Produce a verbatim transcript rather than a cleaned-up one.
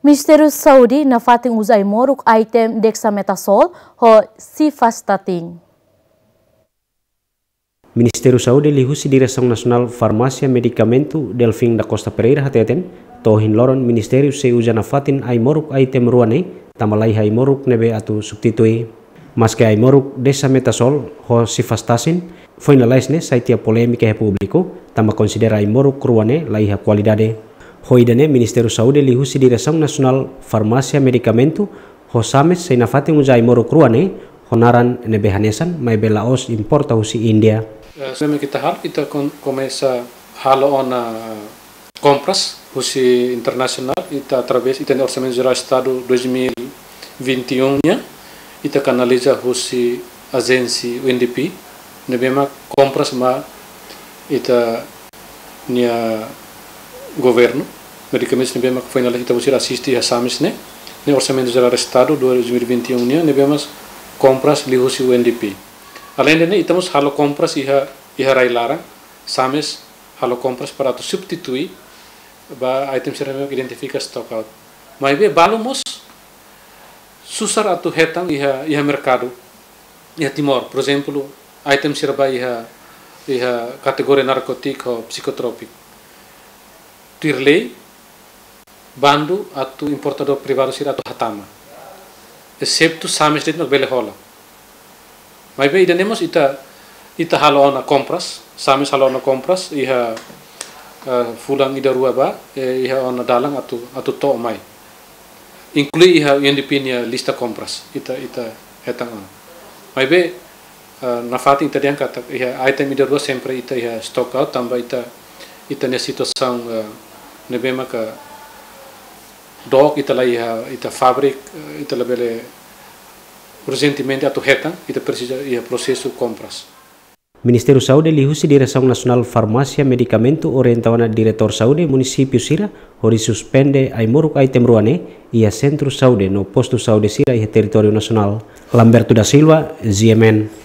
Ministériu Saúde nafatin uza ai-moruk item dexamethasone ho cifastatin. Ministériu Saúde liuhusi Diresaun Nasionál Farmásia Medikamentu, Delfim da Costa Pereira hateten, to'o ohin loron ministériu sei uza nafatin ai-moruk item rua ne'e, tanba laiha ai-moruk ne'ebé atu substitui. Maske ai-moruk dexamethasone ho cifastatin foin lalais ne'e sai tiha polémika iha públiku, tanba konsidera ai-moruk rua ne'e laiha kualidade. Ho ida-ne'e Ministériu Saúde liuhusi Diresaun Nasionál Farmásia Medikamentu ho SAMES sei nafatin uza ai-moruk rua ne'e ho naran ne'ebé hanesan, maibé la'ós importa husi Índia. Eh, se memang ita halo, ita kon-, komesa halo ona kompras husi internasionál, ita através ita-nia Orsamentu Jerál Estadu dois mil e vinte e um nian, ita kanaliza husi ajénsia U N D P, ne'ebé mak kompras mai ita-nia governu, medikamentus ne'ebé mak foin lalais ita-boot sira asiste iha SAMES ne'e, ne'e Orsamentu Jerál Estadu dois mil e vinte e um nian, ne'ebé mak kompras liuhusi U N D P. Aleinde ne'e, ita mós halo kompras iha, iha rai-laran, SAMES halo kompras para atu substitui ba item sira ne'ebé identifika stock out. Maibé balu mós susar atu hetan iha, iha merkadu, iha Timor, por ezemplu, item sira ba iha, iha kategoria narkótiku ho psikotrópiku. Tuir lei, bandu atu importadór privadu sira atu hatama. Exetu SAMES de'it mak bele hola. Maibé ida-ne'e mós ita, ita halo ona kompras, SAMES halo ona kompras, iha, eh, fulan ida rua ba, eh, iha ona dalan atu, atu to'o mai. Inklui iha U N D P nia lista kompras, ita, ita hetan ona. Maibé, eh, nafatin ita dehan katak iha item ida rua sempre ita iha stock out, tanba ita, ita-nia situasaun, eh, ne'ebé maka dook ita la iha ita fábrika, eh, ita labele urjentemente atu hetan, ita presiza iha prosesu kompras. Ministériu Saúde liuhusi Diresaun Nasionál Farmásia Medikamentu orienta ona diretór saúde munisípiu sira hodi suspende ai-moruk item rua ne'e iha sentru saúde no postu saúde sira iha territóriu nasionál. Lamberto da Silva, G M N.